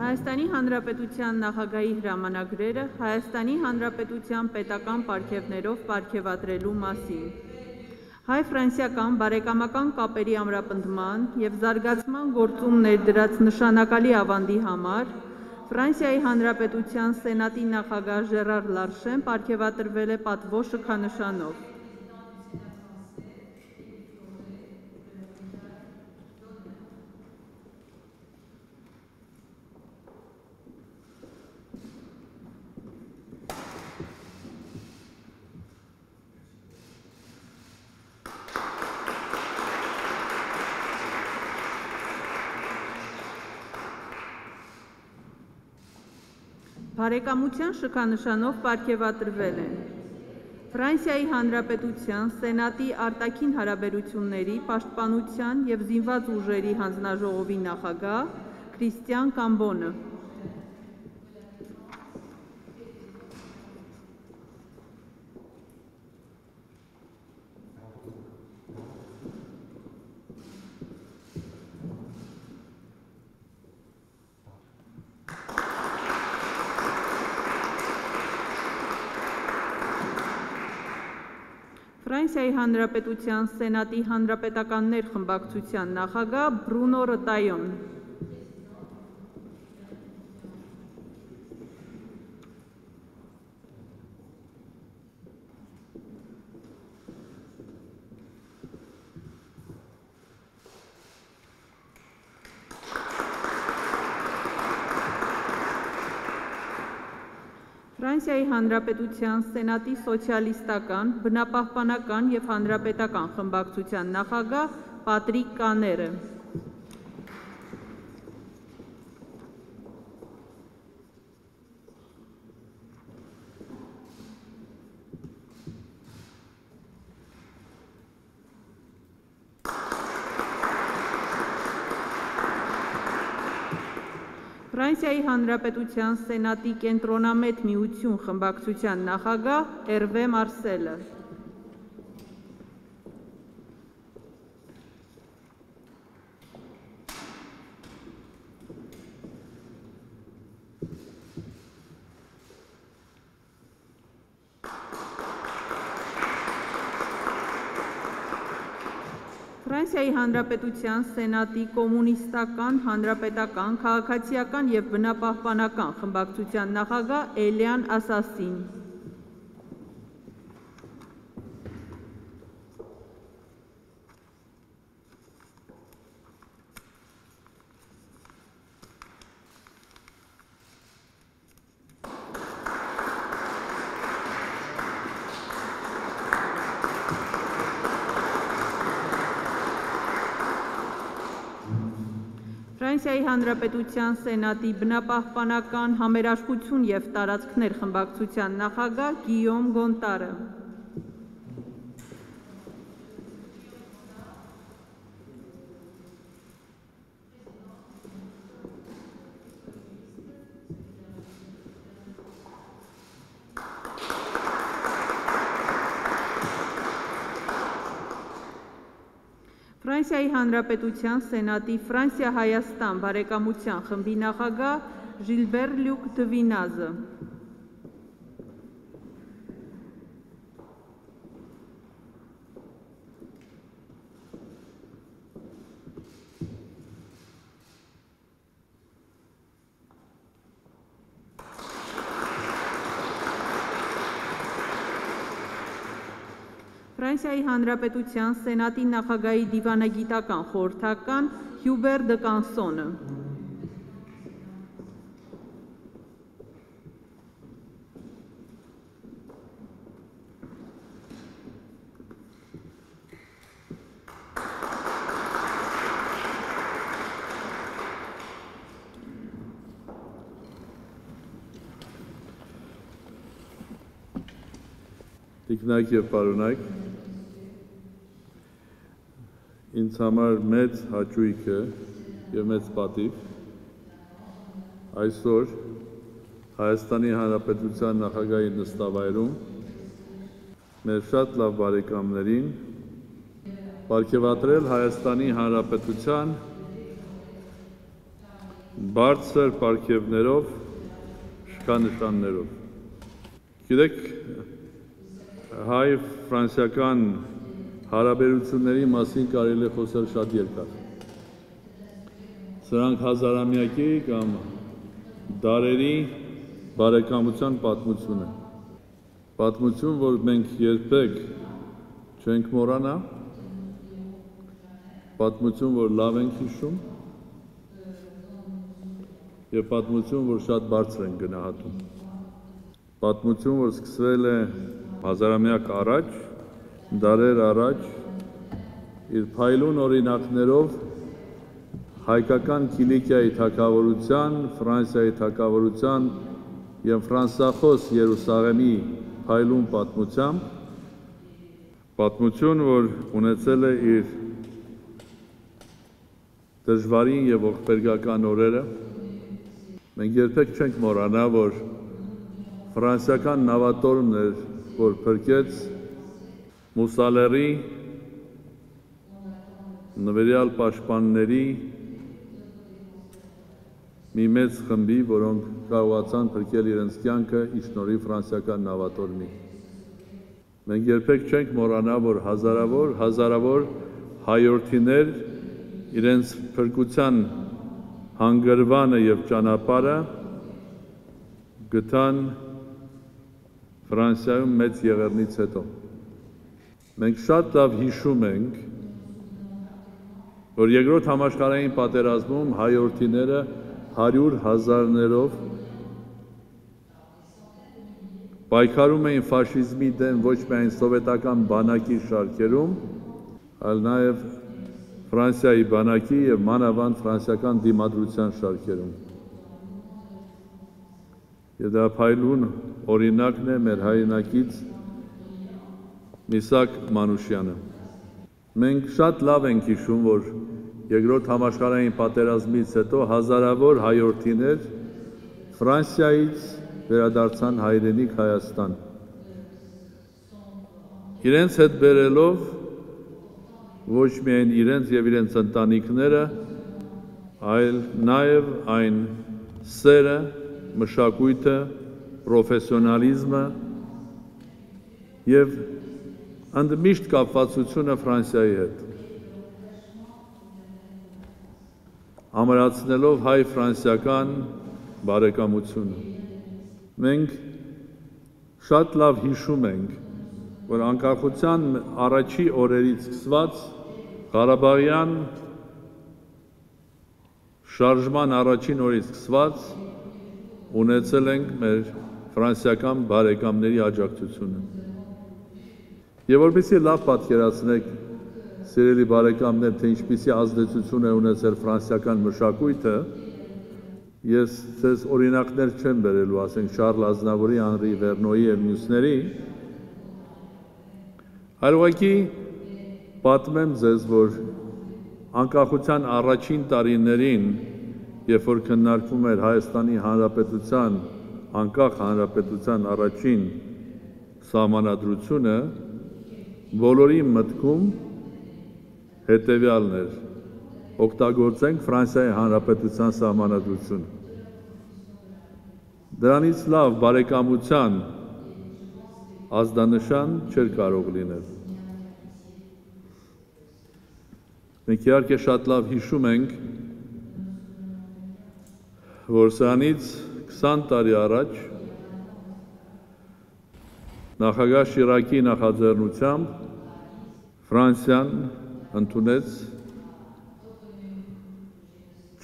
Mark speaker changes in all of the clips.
Speaker 1: Հայաստանի Հանրապետության նախագահի հրամանագրերը Հայաստանի Հանրապետության պետական պարգևներով պարգևատրելու մասին։ Հայ-ֆրանսիական բարեկամական կապերի ամրապնդման և զարգացման գործում ներդրած նշանակալի ավանդի համար Ֆրանսիայի Հանրապետության Սենատի նախագահ Ժերար Լարշեն պարգևատրվել է պատվո շքանշանով։ Բարեկամության շքանշանով պարգևատրվել են Ֆրանսիայի Հանրապետության Սենատի արտաքին հարաբերությունների, պաշտպանության և զինված ուժերի հանձնաժողովի նախագահ Քրիստիան Կամբոնը։ Ֆրանսիայի Հանրապետության Սենատի հանրապետականներ խմբակցության նախագահ Բրունո Ռտայոն։ Ֆրանսիայի Հանրապետության Սենատի սոցիալիստական, բնապահպանական և հանրապետական խմբակցության նախագահ Պատրիկ Կաները։ Ֆրանսիայի Հանրապետության Սենատի կենտրոնամետ միություն խմբակցության նախագահ Էրվե Մարսելը։ Ֆրանսիայի Հանրապետության Սենատի կոմունիստական, հանրապետական, քաղաքացիական և բնապահպանական խմբակցության նախագահ Էլիան Ասասին։ Ֆրանսիայի Հանրապետության Սենատի բնապահպանական, համերաշխություն և տարածքներ խմբակցության նախագահ Գիյոմ Գոնտարը։ Ֆրանսիայի Հանրապետության Սենատի Ֆրանսիա-Հայաստան բարեկամության խմբի նախագահ Ժիլբեր Լյուկ Դվինազը։ Ֆրանսիայի Հանրապետության Սենատի նախագահի դիվանագիտական խորհրդական Հյուբեր դը Կանսոնը։
Speaker 2: Տիկնակ և պարոնայք, ինձ համար մեծ հաճույք է և մեծ պատիվ այսօր Հայաստանի Հանրապետության նախագահի նստավայրում մեր շատ լավ բարեկամներին պարգևատրել Հայաստանի Հանրապետության բարձր պարգևներով, շքանշաններով։ Գիտեք, հայ-ֆրանսիական հարաբերությունների մասին կարելի է խոսել շատ երկար։ Սրանք հազարամյակի կամ դարերի բարեկամության պատմություն է։ Պատմություն, որ մենք երբեք չենք մոռանա, պատմություն, որ լավ ենք հիշում, եւ պատմություն, որ շատ բարձր են գնահատում։ Պատմություն, որ սկսվել է հազարամյակ առաջ, դարեր առաջ, իր փայլուն օրինակներով հայկական Կիլիկիայի թագավորության, Ֆրանսիայի թագավորության եւ ֆրանսախոս Երուսաղեմի փայլուն պատմությամբ, պատմություն, որ ունեցել է իր դժվարին եւ ողբերգական օրերը, մենք երբեք չենք մոռանա, որ ֆրանսիական նավատորմն էր, որ փրկեց Մուսալերի նվերյալ պաշտպանների մի մեծ խմբի, որոնք կարողացան փրկել իրենց կյանքը ի շնորհիվ ֆրանսիական նավատորմի։ Մենք երբեք չենք մոռանա, որ հազարավոր հայորդիներ իրենց փրկության հանգրվանը եւ ճանապարհը գտան Ֆրանսիայում մեծ եղեռնից հետո։ Մենք շատ լավ հիշում ենք, որ երկրորդ համաշխարհային պատերազմում հայորդիները 100,000-ներով պայքարում էին ֆաշիզմի դեմ ոչ միայն սովետական բանակի շարքերում, այլ նաև Ֆրանսիայի բանակի եւ մանավանդ ֆրանսիական դիմադրության շարքերում։ Եվ դա փայլուն օրինակն է մեր հայրենակից Միսակ Մանուշյանը։ Մենք շատ լավ ենք հիշում, որ երկրորդ համաշխարհային պատերազմից հետո հազարավոր հայորդիներ Ֆրանսիայից վերադարձան հայրենիք Հայաստան։ Իրենց հետ բերելով ոչ միայն իրենց եւ իրենց ընտանիքները, այլ նաեւ այն սերը, մշակույթը, պրոֆեսիոնալիզմը եւ ընդմիշտ կապվածությունը Ֆրանսիայի հետ։ Ամրացնելով հայ-ֆրանսիական բարեկամությունը։ Մենք շատ լավ հիշում ենք, որ անկախության առաջի օրերից սկսված Ղարաբաղյան շարժման առաջին օրից սկսված ունեցել ենք մեր ֆրանսիական բարեկամների աջակցությունը։ Եվ որպեսզի լավ պատկերացնեք, սիրելի բարեկամներ, թե ինչպիսի ազդեցություն է ունեցել ֆրանսիական մշակույթը, ես ձեզ օրինակներ չեմ բերելու, ասենք Շարլ Ազնավուրի, Անրի Վերնոյի եւ մյուսների, այլ ուղղակի պատմեմ ձեզ, որ անկախության առաջին տարիներին, երբ որ քննարկվում էր Հայաստանի Հանրապետության, անկախ հանրապետության առաջին սահմանադրությունը, բոլորի մտքում հետևյալն էր. օգտագործենք Ֆրանսիայի Հանրապետության սահմանադրությունը։ Դրանից լավ բարեկամության ազդանշան չէր կարող լինել։ Մենք իհարկե շատ լավ հիշում ենք, որ սրանից 20 տարի առաջ նախագահ Շիրակի նախաձեռնությամբ Ֆրանսիան ընդունեց,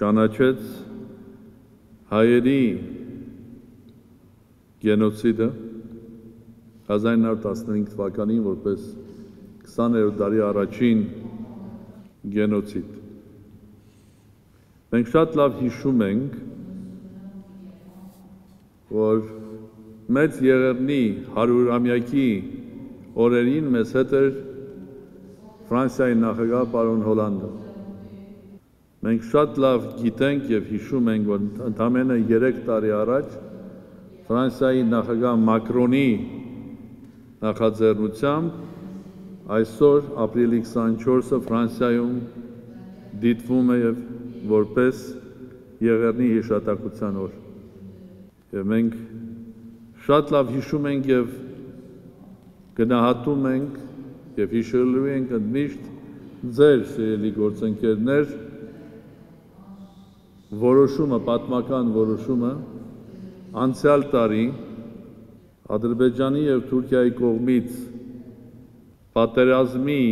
Speaker 2: ճանաչեց հայերի գենոցիդը 1915 թվականին որպես 20-րդ դարի առաջին գենոցիդ։ Մենք շատ լավ հիշում ենք, որ մեծ եղեռնի 100-ամյակի օրերին մեզ հետ էր Ֆրանսիայի նախագահ պարոն Հոլանդը։ Մենք շատ լավ գիտենք եւ հիշում ենք, որ ընդամենը 3 տարի առաջ Ֆրանսիայի նախագահ Մակրոնի նախաձեռնությամբ այսօր ապրիլի 24-ը Ֆրանսիայում դիտվում է որպես Եղեռնի հիշատակության օր։ Եվ մենք շատ լավ հիշում ենք եւ գնահատում ենք եւ հիշելու ենք ընդմիշտ ձեր սիրելի գործընկերներ որոշումը, պատմական որոշումը անցյալ տարի Ադրբեջանի եւ Թուրքիայի կողմից պատերազմի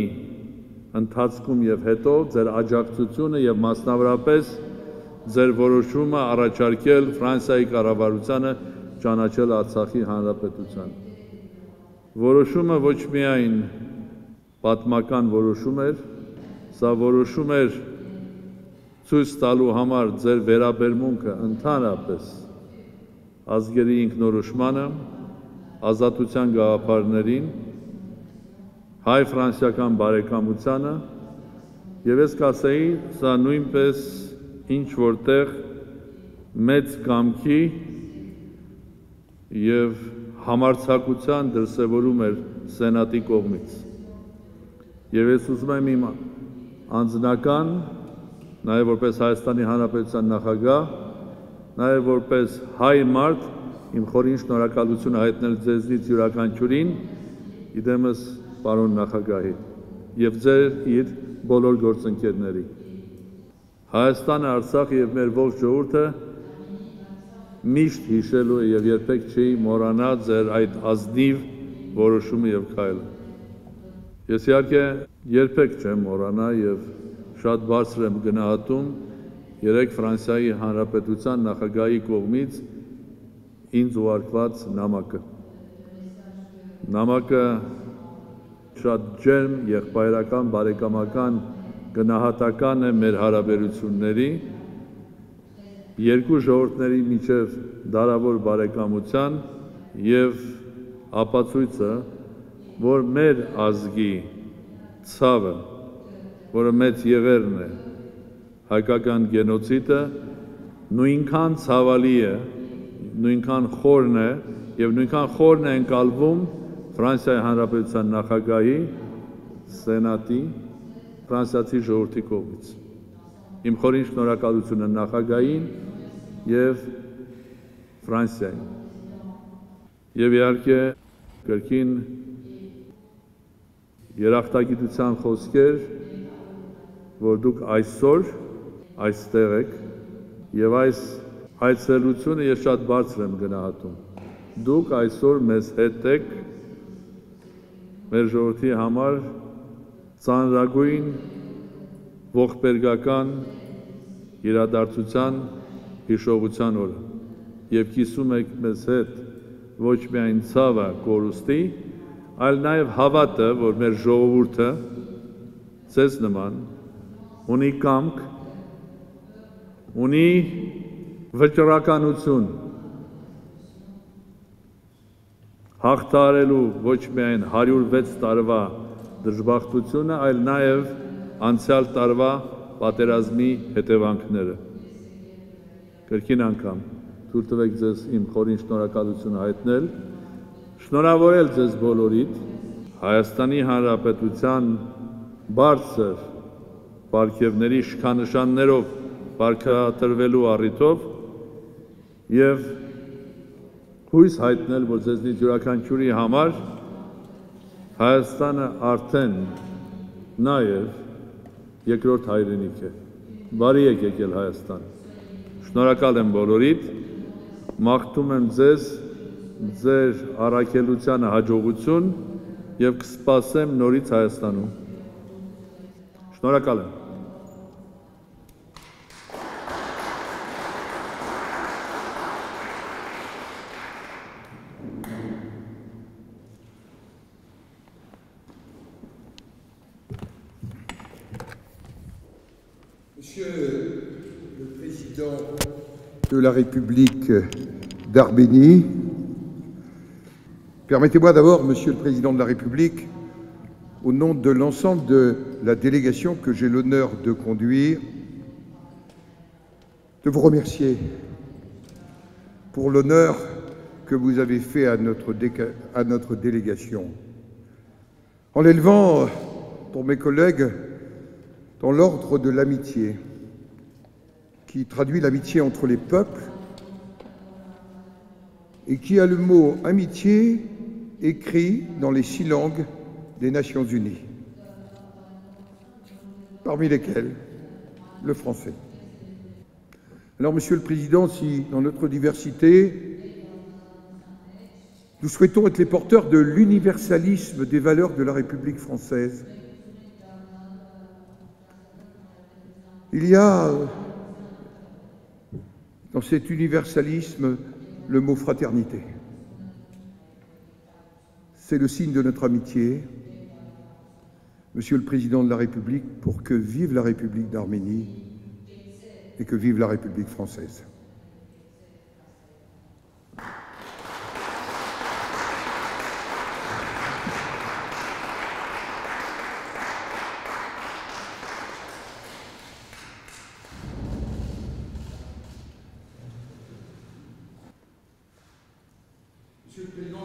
Speaker 2: ընթացքում եւ հետո ձեր աջակցությունը եւ մասնավորապես ձեր որոշումը առաջարկել Ֆրանսիայի կառավարությանը ճանաչել Արցախի հանրապետության։ Որոշումը ոչ միայն պատմական որոշում էր, սա որոշում էր ցույց տալու համար ձեր վերաբերմունքը ընդհանրապես ազգերի ինքնորոշմանը, ազատության գաղափարներին, հայ-ֆրանսիական բարեկամությանը եւ ես կասեի, սա նույնպես ինչ որտեղ մեծ կամքի եւ համարձակության դրսևորում էր Սենատի կողմից։ Եվ ես ուզում եմ իմ անձնական, նաեւ որպես Հայաստանի Հանրապետության նախագահ, նաեւ որպես հայ մարդ իմ խորին շնորհակալությունը հայտնել ձեզնից յուրաքանչյուրին, իդեմս պարոն նախագահի եւ ձեր իր բոլոր գործընկերների։ Հայաստանը, Արցախը եւ մեր ողջ ժողովուրդը միշտ հիշելու է եւ երբեք չի մոռանա ձեր այդ ազնիվ որոշումը եւ քայլը։ Ես իհարկե երբեք չեմ մոռանա եւ շատ բարձր եմ գնահատում երեք Ֆրանսիայի Հանրապետության նախագահի կողմից ինձ ուղարկված նամակը։ Նամակը շատ ջերմ, եղբայրական, բարեկամական, գնահատական է մեր հարաբերությունների, երկու ժողովուրդների միջև դարավոր բարեկամության եւ ապացույցը, որ մեր ազգի ցավը, որը մեծ եղերն է, հայկական գենոցիդը, նույնքան ցավալի է, նույնքան խորն է եւ նույնքան խորն է ընկալվում Ֆրանսիայի Հանրապետության նախագահի, Սենատի, ֆրանսիացի ժողովրդի կողմից։ Իմ խորին շնորհակալությունը նախագահին եւ Ֆրանսիային։ Եվ իհարկե կրկին երախտագիտության խոսքեր, որ դուք այսօր այստեղ եք եւ այս այցելությունը ես շատ բարձր եմ գնահատում։ Դուք այսօր մեզ հետ եք մեր ժողովրդի համար ծանրագույն ողբերգական իրադարձության հիշողության օրը եւ կիսում եք մեզ հետ ոչ միայն ցավը կորուստի, այլ նաեւ հավատը, որ մեր ժողովուրդը ցես նման ունի կամք, ունի վճռականություն հաղթահարելու ոչ միայն 106 տարվա դժբախտությունը, այլ նաև անցյալ տարվա պատերազմի հետևանքները։ Կրկին անգամ թույլ տվեք ձեզ իմ խորին շնորհակալությունը հայտնել, շնորհավորել ձեզ բոլորիդ Հայաստանի Հանրապետության բարձր պարգևների շքանշաններով պարգևատրվելու առիթով եւ հույս հայտնել, որ ձեզնից յուրաքանչյուրի համար Հայաստանը արդեն նաև երկրորդ հայրենիք է։ Բարի եք եկել Հայաստան։ Շնորհակալ եմ բոլորիդ, մաղթում եմ ձեզ ձեր առաքելությանը հաջողություն եւ կսպասեմ նորից Հայաստանում։ Շնորհակալ եմ։
Speaker 3: Monsieur le Président de la République d'Arménie, permettez-moi d'abord, Monsieur le Président de la République, au nom de l'ensemble de la délégation que j'ai l'honneur de conduire, de vous remercier pour l'honneur que vous avez fait à notre délégation, en l'élevant pour mes collègues dans l'ordre de l'amitié, qui traduit l'amitié entre les peuples et qui a le mot amitié écrit dans les 6 langues des Nations Unies, parmi lesquelles le français. Alors, Monsieur le Président, si dans notre diversité, nous souhaitons être les porteurs de l'universalisme des valeurs de la République française, il y a dans cet universalisme le mot fraternité. C'est le signe de notre amitié, Monsieur le Président de la République, pour que vive la République d'Arménie et que vive la République française. Monsieur le Président